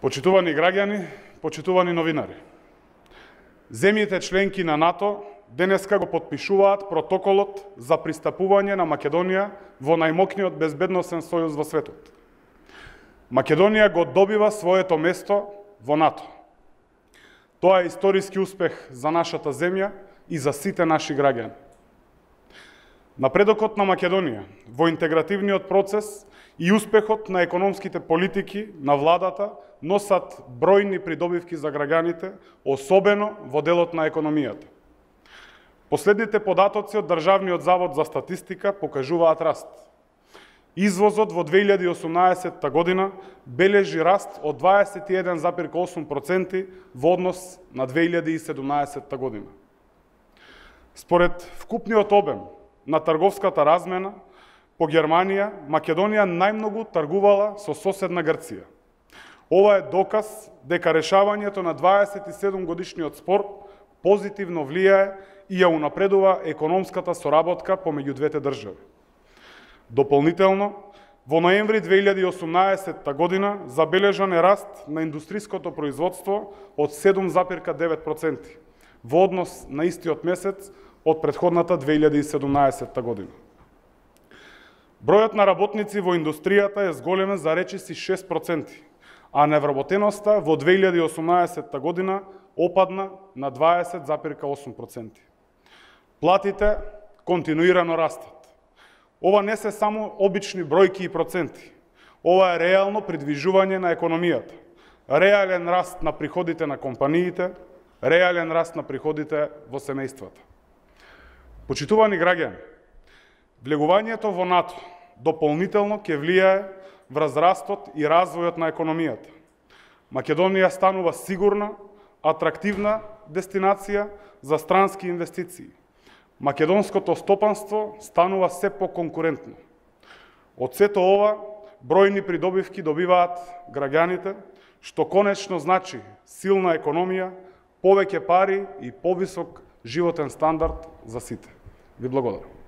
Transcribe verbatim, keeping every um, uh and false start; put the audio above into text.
Почитувани граѓани, почитувани новинари. Земјите членки на НАТО денеска го потпишуваат протоколот за пристапување на Македонија во најмокниот безбедносен сојуз во светот. Македонија го добива своето место во НАТО. Тоа е историски успех за нашата земја и за сите наши граѓани. Напредокот на Македонија во интегративниот процес и успехот на економските политики на владата носат бројни придобивки за граѓаните, особено во делот на економијата. Последните податоци од Државниот завод за статистика покажуваат раст. Извозот во две илјади и осумнаесетта година бележи раст од дваесет и еден зарез и осум проценти во однос на две илјади и седумнаесетта година. Според вкупниот обем на трговската размена по Германија, Македонија најмногу тргувала со соседна Грција. Ова е доказ дека решавањето на дваесет и седум годишниот спор позитивно влијае и ја унапредува економската соработка помеѓу двете држави. Дополнително, во ноември две илјади и осумнаесетта година забележан е раст на индустриското производство од седум зарез и девет проценти во однос на истиот месец од претходната две илјади и седумнаесетта година. Бројот на работници во индустријата е зголемен за речиси шест проценти, а невработеноста во две илјади и осумнаесетта година опадна на дваесет зарез и осум проценти. Платите континуирано растат. Ова не се само обични бројки и проценти. Ова е реално придвижување на економијата. Реален раст на приходите на компаниите, реален раст на приходите во семејствата. Почитувани граѓани, влегувањето во НАТО дополнително ќе влијае врз растот и развојот на економијата. Македонија станува сигурна, атрактивна дестинација за странски инвестиции. Македонското стопанство станува се поконкурентно. Од сето ова, бројни придобивки добиваат граѓаните, што конечно значи силна економија, повеќе пари и повисок животен стандард за сите. Ви благодарам.